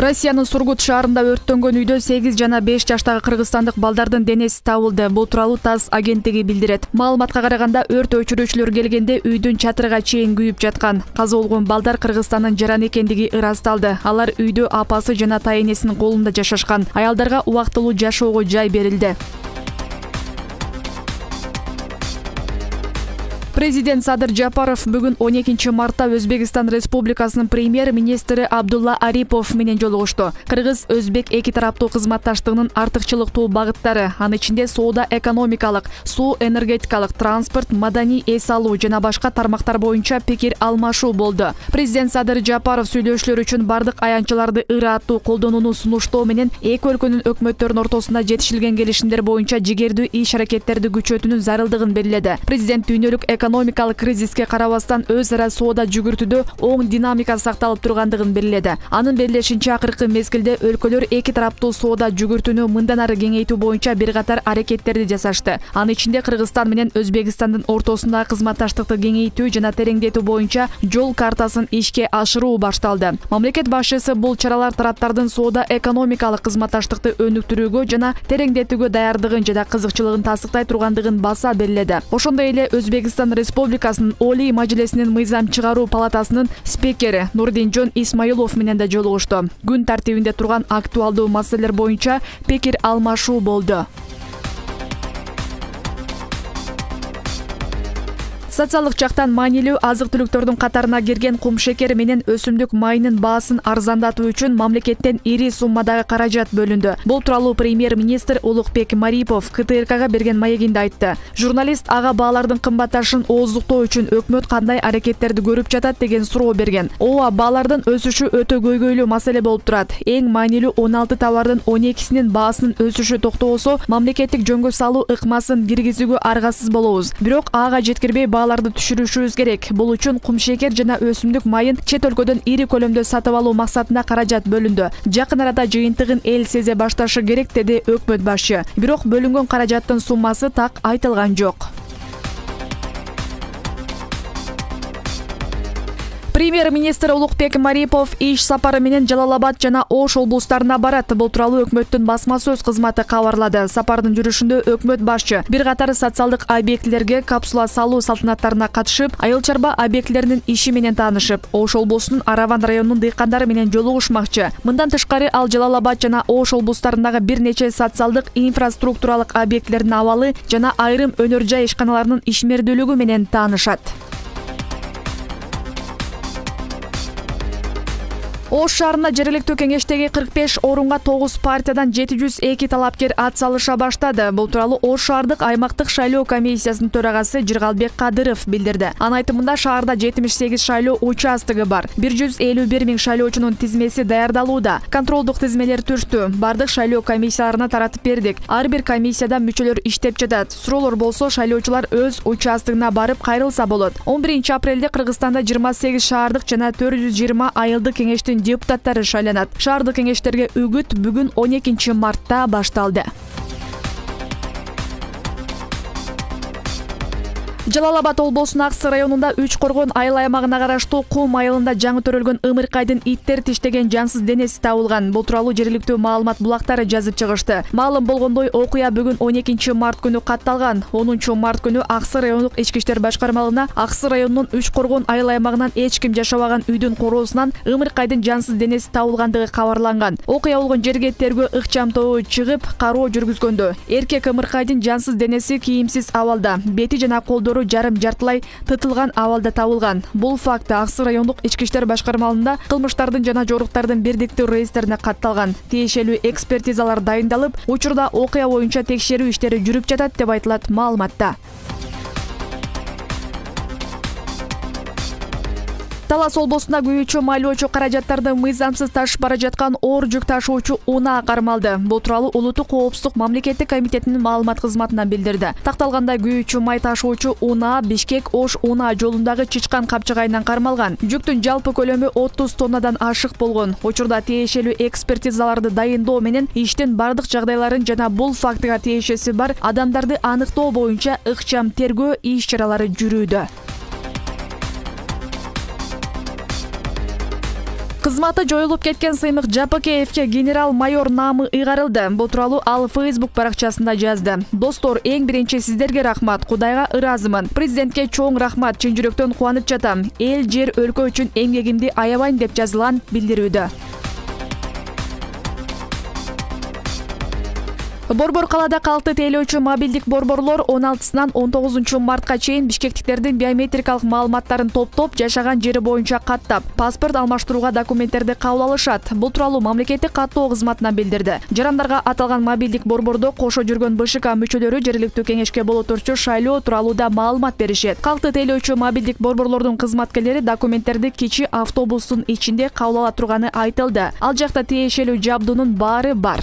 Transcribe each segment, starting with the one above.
Россиянын Сургут шаарында өрттөнгөн үйдө 8 жана 5 жаштагы кыргызстандык балдардын денеси табылды. Бул тууралуу ТАСС агенттиги билдирет. Маалыматка караганда өрт өчүрүүчүлөр келгенде үйдүн чатырга чейин күйүп жаткан. Каза болгон балдар Кыргызстандын жараны экендиги ырасталды. Алар үйдө апасы жана тайэнесинин колунда жашашкан. Аялдарга убактылуу жашоого жай берилди. Президент Садыр Жапаров бүгүн 12 мартта Өзбекстан Республикасынын премьер-министри Абдулла Арипов менен жолугушту. Кыргыз-өзбек эки тараптуу кызматташтыгынын артыкчылыктуу багыттары, анын ичинде соода экономикалык, суу энергетикалык, транспорт, маданий эс алуу жана башка тармактар боюнча пикир алмашуу болду. Президент Садыр Жапаров сүйлөшүүлөр үчүн бардык аянтчыларды ыраттуу колдонууну сунуштоо менен эки өлкөнүн өкмөттөрүнүн ортосунда жетишилген келишимдер боюнча жигердүү иш-аракеттерди күчөтүүнүн зарылдыгын белгиледи. Президент дүйнөлүк экономикалык кризиске карабастан өз ара соода жүгүртүүдө оң динамика сакталып тургандыгын белгиледи. Анын белгилешинче, акыркы мезгилде өлкөлөр эки тараптуу соода жүгүртүүнү мындан ары кеңейтүү боюнча бир катар аракеттерди жасашты. Анын ичинде Кыргызстан менен Өзбекстандын ортосундагы кызматташтыкты кеңейтүү жана тереңдетүү боюнча жол картасын ишке ашыруу башталды. Мамлекет башчысы бул чаралар тараптардын соода экономикалык кызматташтыкты өнүктүрүүгө жана тереңдетүүгө даярдыгын жана кызыкчылыгын тастыктай тургандыгын баса белгиледи. Ошондой эле Өзбекстан Республикасынын Олий Мажлисинин мыйзам чыгаруу палатасынын спикери Нурдинжон Исмаилов менен да жолугушту. Күн тартибинде турган актуалдуу маселелер боюнча пикир алмашуу болду. Социалдык жактан маанилүү азык-түлүктөрдүн катарына кирген кумшекер менен өсүмдүк майынын баасын арзандатуу үчүн мамлекеттен ири суммадагы каражат бөлүндү. Бул тууралуу премьер-министр Улукбек Марипов КТРКга берген маегинде айтты. Журналист ага баалардын кымбатташын ооздуктоо үчүн өкмөт кандай аракеттерди көрүп жатат деген суроо берген. Ооба, баалардын өсүшү өтө көйгөйлүү маселе болуп турат. Эң маанилүү 16 товардын 12синин баасынын өсүшү токтоосо, мамлекеттик жөнгө салуу ыкмасын киргизүүгө аргасыз болобуз. Бирок ага жеткирбей бааларды түшүрүшүбүз керек. Бул үчүн кумшекер жана өсүмдүк майын чет өлкөдөн ири көлөмдө сатып алуу максатында каражат бөлүндү. Жакын арада жыйынтыгын эл сезе башташы керек, деди өкмөт башчы. Бирок бөлүнгөн каражаттын суммасы так айтылган жок. Премьер-министр Улукбек Марипов иш сапары менен Жалал-Абад жана Ош облустарына барат. Бул тууралуу өкмөттүн басма сөз кызматы кабарлады. Сапардын жүрүшүндө өкмөт башчы бир катар социалдык объектилерге капсула салуу салтанаттарына катышып, айыл чарба объектилеринин иши менен таанышып, Ош облусунун Араван районунун дыйкандары менен жолугушмакчы. Мындан тышкары ал Жалал-Абад жана Ош облустарындагы бир нече социалдык инфраструктуралык объектилердин абалы жана айрым өнөр жай ишканаларынын ишмердүүлүгү менен таанышат. Ош шаарында жергиликтүү кеңештеги 45 орунга 9 партиядан 702 талапкер ат салыша баштады. Бул тууралуу Ош шаардык аймактык шайлоо комиссиясынын төрагасы Жыргалбек Кадыров билдирди. Анын айтымында шаарда 78 шайлоо участогу бар. 151 миң шайлоочунун тизмеси даярдалууда. Контролдук тизмелер түштү. Бардык шайлоо комиссияларына таратып бердик. Ар бир комиссияда мүчөлөр иштеп жатат. Суроолор болсо шайлоочулар өз участогуна барып кайрылса болот. 11 апрелде Кыргызстанда 28 шаардык жана 420 айылдык кеңештин депутаттары шайланат. Шаардык кеңештерге үгүт бүгүн 12 мартта башталды. Жалал-Абад облусунун Аксы районунда 3 коргон айыл аймагына караштуу Кум айылында жаңы төрөлгөн ымыркайдын иттер тиштеген жансыз денеси табылган. Бул тууралуу жергиликтүү маалымат булактары жазып чыгышты. Маалым болгондой, окуя бүгүн 12 март күнү катталган. 10 март күнү Аксы райондук ички иштер башкармалыгына Аксы районунун 3 коргон айыл аймагынан эч ким жашабаган үйдүн короосунан ымыркайдын жансыз денеси табылгандыгы кабарланган. Окуя болгон жерге тергөө ыкчам тобу чыгып, кароо жүргүзгөндө эркек ымыркайдын жансыз денеси кийимсиз абалда, бети жана колдору жарым жартылай тытылган абалда табылган. Бул факт Аксы райондук ички иштер башкармалыгында кылмыштардын жана жоруктардын бирдиктүү реестрине катталган. Тиешелүү экспертизалар дайындалып, учурда окуя боюнча текшерүү иштери жүрүп жатат деп айтылат маалыматта. Талас облусунда күйүүчү майлоочу каражаттарды мыйзамсыз ташып бара жаткан оор жүк ташуучу унаа кармалды. Бул тууралуу Улуттук коопсуздук мамлекеттик комитетинин маалымат кызматынан билдирди. Такталгандай күйүүчү май ташуучу унаа Бишкек-Ош унаа жолундагы Чычкан капчыгайынан кармалган. Жүктүн жалпы көлөмү 30 тоннадан ашык болгон. Учурда тиешелүү экспертизаларды дайындоо менен иштин бардык жагдайларын жана бул фактыга тиешеси бар адамдарды аныктоо боюнча ыкчам тергөө иш-чаралары жүрүүдө. Кызматы жоюлуп кеткен Сыймык Жапыкеевке генерал-майор наамы ыйгарылды. Бул тууралуу ал Facebook баракчасында жазды. Достор, эң биринчи сиздерге рахмат, Кудайга ыраазымын. Президентке чоң рахмат, чын жүрөктөн кубанып жатам. Эл, жер, өлкө үчүн эмгегимди аябайм деп жазылган билдирүүдө. Борбор калаада калкты тейлөөчү мобилдик борборлор 16-сынан 19 мартка чейин бишкектиктердин биометрикалык маалыматтарын топтоп, жашаган жери боюнча каттап, паспорт алмаштырууга документтерди кабыл алышат. Бул тууралуу мамлекеттик каттоо кызматынан билдирди. Жарандарга аталган мобилдик борбордо кошо жүргөн БШК мүчөлөрү жергиликтүү кеңешке болоторчу шайлоо тууралуу да маалымат беришет. Калкты тейлөөчү мобилдик борборлордун кызматкерлери документтерди кичи автобустун ичинде кабыл ала турганы айтылды. Ал жакта тиешелүү жабдуунун баары бар.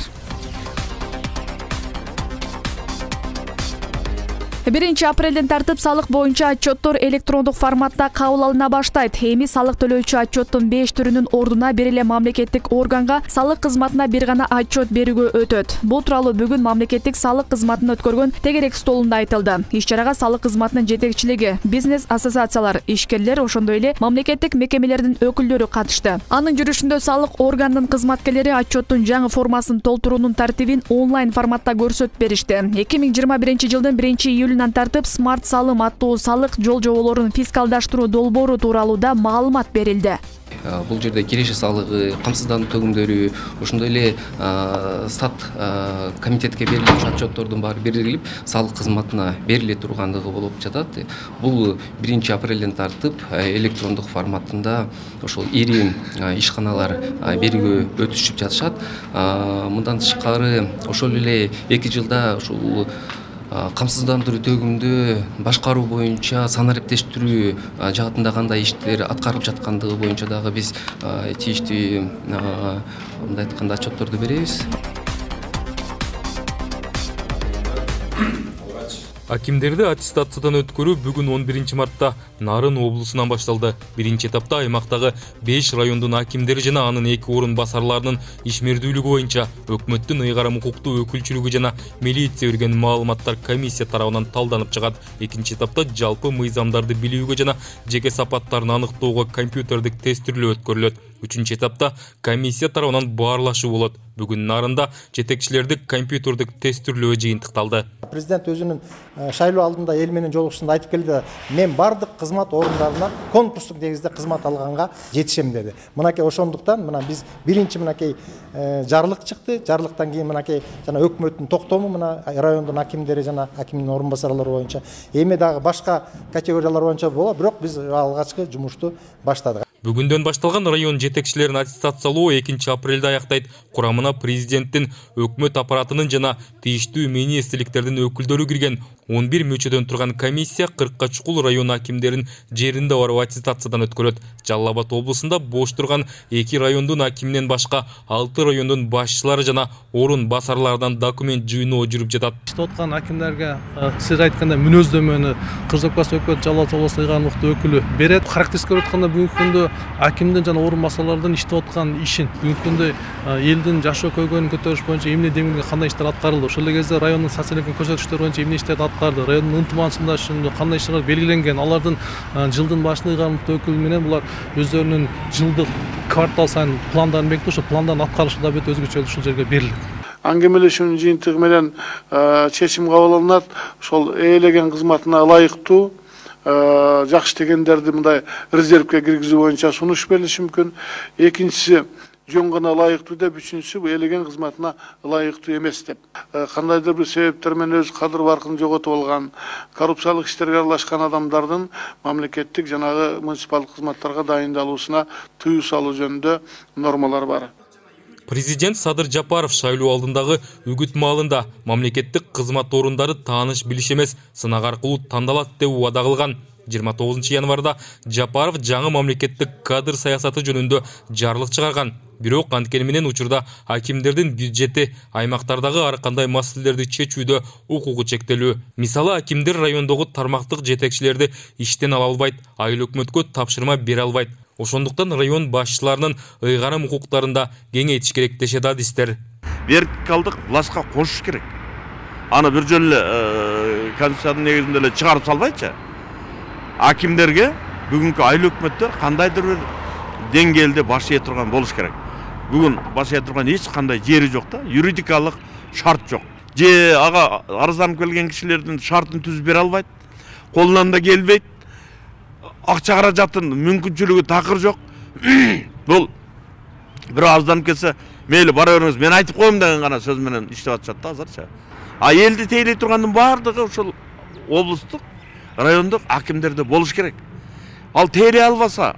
1 апрелден тартып салык боюнча отчеттор электрондук форматта кабыл алына баштайт. Эми салык төлөөчү отчеттун 5 түрүнүн ордуна бир эле мамлекеттик органга салык кызматына бир гана отчет берүүгө өтөт. Бул тууралуу бүгүн мамлекеттик салык кызматын өткөргөн тегерек столунда айтылды. Иш-чарага салык кызматынын жетекчилиги, бизнес ассоциациялар, ишкерлер, ошондой эле мамлекеттик мекемелердин өкүлдөрү катышты. Анын жүрүшүндө салык органынын кызматкерлери отчеттун жаңы формасын толтуруунун тартибин онлайн форматта көрсөтүп беришти. 2021 жылдын 1-июлүнөн тартып смарт салым аттуу салык жол жоболорун фискалдаштыруу долбоору тууралуу да маалымат берилди. Бул жерде киреше салыгы, камсыздандыруу төгүмдөрү, ошондой эле стат комитетке берилген отчеттордун баары берилип, салык кызматына бериле тургандыгы болуп жатат. Бул 1 апрелден тартып электрондук форматында ошол ири ишканалар берүүгө өтүшүп жатышат. Мындан тышкары ошол эле 2 жылда ушул камсыздандыруу төгүмдү башкаруу боюнча санариптештирүү жаатында кандай иштер аткарылып жаткандыгы боюнча дагы биз тийиштүү мындай айтканда отчетторду беребиз. Акимдерди аттестациядан өткөрүү бүгүн 11 мартта Нарын облусунан башталды. Биринчи этапта аймактагы 5 райондун акимдери жана анын 2 орун басарларынын ишмердүүлүгү боюнча өкмөттүн ыйгарым укуктуу өкүлчүлүгү жана милиция берген маалыматтар комиссия тарабынан талданып чыгат. Экинчи этапта жалпы мыйзамдарды билүүгө жана жеке сапаттарын аныктоого компьютердик тестирлөө өткөрүлөт. Үчүнчү этапта комиссия тарабынан баарлашуу болот. Бүгүн Нарында жетекчилерди компьютердик тестирлөө жыйынтыкталды. Президент өзүнүн шайлоо алдында эл менен жолугушуусунда айтып келди, мен бардык кызмат орундарынан конкурстук негизде кызмат алганга жетишем деди. Мынакей ошондуктан мына биз биринчи мынакей жарлык чыкты. Жарлыктан кийин мынакей жана өкмөттүн токтому мына райондун акимдери жана акимдин орун басарлары боюнча эми дагы башка категориялар боюнча болот, бирок биз алгачкы жумушту баштадык. Бүгүндөн башталган район жетекчилерин аттестациялоо 2 апрелде аяктайт. Курамына президенттин, өкмөт аппаратынын жана тийиштүү министрликтердин өкүлдөрү кирген 11 мүчөдөн турган комиссия 40 чукул район акимдерин жеринде барып аттестациядан өткөрөт. Жалал Абад облусунда бош турган 2 райондун акиминен башка 6 райондун башчылары жана орун басарлардан документ жыйноо жүрүп жатат. Иштеп аткан акимдерге сиз айткандай мүнөздөмөнү Кыргыз Республикасы өкмөт Жалал Абад облусунун ыйгарым укуктуу өкүлү берет. Характеристикке өткөндө бүгүнкү күндө акимдин жана орун басарлардын иштеп аткан ишин, бүгүнкү күндө элдин жашоо көйгөйүн көтөрүш боюнча эмне демилге кандай иштер аткарылды, ошол эле кезде райондун социалдык көрсөтүчтөр боюнча эмне иштерди аткарды, райондун ынтымагында кандай иштер белгиленген, алардын жылдын башында ыйгарым укуктуу өкүлү менен булар өздөрүнүн жылдык квартал сайын пландарын бекитип, ошол пландардын аткарышы да бөт өзгөчө ушул жерге берилет. Аңгемелешүүнүн жыйынтыгы менен чечим кабыл алынат. Ошол ээлеген кызматына ылайыктуу жакшы дегендерди мындай резервке киргизүү боюнча сунуш берилиши мүмкүн. Экинчиси жөн гана ылайыктуу деп, үчүнчүсү бул ээлеген кызматына ылайыктуу эмес деп. Кандайдыр бир себептер менен өз кадыр баркын жоготуп алган, коррупциялык иштерге аралашкан адамдардын мамлекеттик жанагы муниципалдык кызматтарга дайындалуусуна тыюу салуу жөнүндө нормалар бар. Президент Садыр Жапаров шайлоо алдындагы үгүт маалында мамлекеттик кызмат орундары тааныш билиш эмес, сынак аркылуу тандалат деп убада кылган. 29 январда Жапаров жаңы мамлекеттик кадр саясаты жөнүндө жарлык чыгарган. Бирок анткени менен учурда акимдердин бюджети аймактардагы ар кандай маселелерди чечүүдө укугу чектелүү. Мисалы, акимдер райондогу тармактык жетекчилерди иштен ала албайт, айыл өкмөткө тапшырма бере албайт. Ошондуктан район башчыларынын ыйгарым укуктарында кеңейтиш керек дешет адистер. Вертикалдык властка кошуш керек. Аны бир жолу эле конституциянын негизинде эле чыгарып салбайчы. Акимдерге бүгүнкү айыл өкмөттөр кандайдыр бир деңгээлде баш ээ турган болуш керек. Бүгүн баш ээ турган эч кандай жери жок да, юридикалык шарт жок. Же ага арызданып келген кишилердин шартын түзүп бере албайт, колунан да келбейт, акча каражатын мүмкүнчүлүгү такыр жок. Бул бирөө арызданып келсе, мейли бара бериңиз, мен айтып коем деген гана сөз менен иштеп атышат да азырча. А элди тейлей тургандын баардыгы ошол облустук, райондук акимдерде болуш керек. Ал тейлей албаса,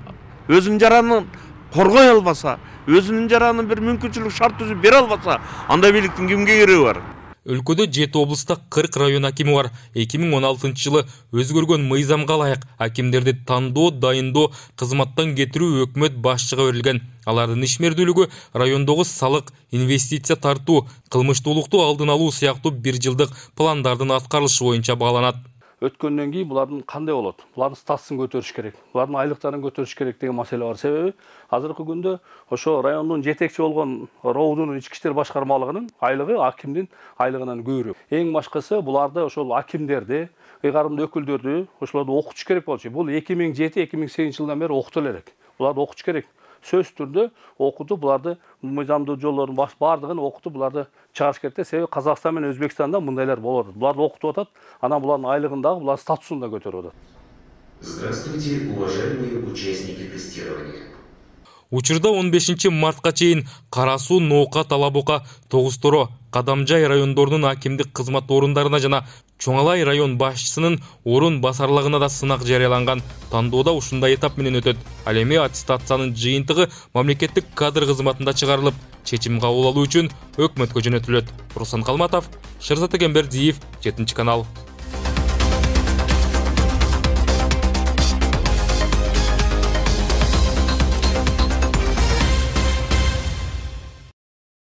өзүнүн жаранын коргой албаса, өзүнүн жаранын бир мүмкүнчүлүк шарт түзүп бере албаса, андай бийликтин кимге кереги бар? Өлкөдө 7 облуста 40 район акими бар. 2016 жылы өзгөргөн мыйзамга ылайык акимдерди тандоо, дайындоо, кызматтан кетирүү өкмөт башчыга берилген. Алардын ишмердүүлүгү райондогу салык, инвестиция тартуу, кылмыштуулукту алдын алуу сыяктуу 1 жылдык пландардын аткарылышы боюнча бааланат. Өткөндөн кийин булардын кандай болот? Булардын статусун көтөрүш керек. Булардын айлыктарын көтөрүш керек деген маселе бар. Себеби азыркы күндө ошо райондун жетекчи болгон РОУдун ички иштер башкармалыгынын айлыгы акимдин айлыгынан көбүрөөк. Эң башкысы буларды ошол акимдерди, ыйгарымдуу өкүлдөрдү ошолорду окутуш керек болчу. Бул 2007-2008 жылдан бери окутула элек. Буларды окутуш керек. Сөз түрдө окутуп, буларды мыйзамдуу жолдордун баардыгын окутуп, буларды чыгарыш керек. Себеби Казакстан менен Өзбекстанда мындайлар болот. Буларды окутуп атат, анан булардын айлыгын дагы, булардын статусун да көтөрүп атат. Здравствуйте, уважаемые участники тестирования. Учурда 15 мартка чейин Кара Суу, Ноокат, Талабока, Тогуз-Торо, Кадамжай райондорунун акимдик кызмат орундарына жана Чоңалай район башчысынын орун басарлыгына да сынак жарыяланган. Тандоодо ушундай этап менен өтөт. Ал эми аттестациянын жыйынтыгы мамлекеттик кадр кызматында чыгарылып, чечим кабыл алуу үчүн өкмөткө жөнөтүлөт. Руслан Калматов, Шерзат Эгембердиев, 7 канал.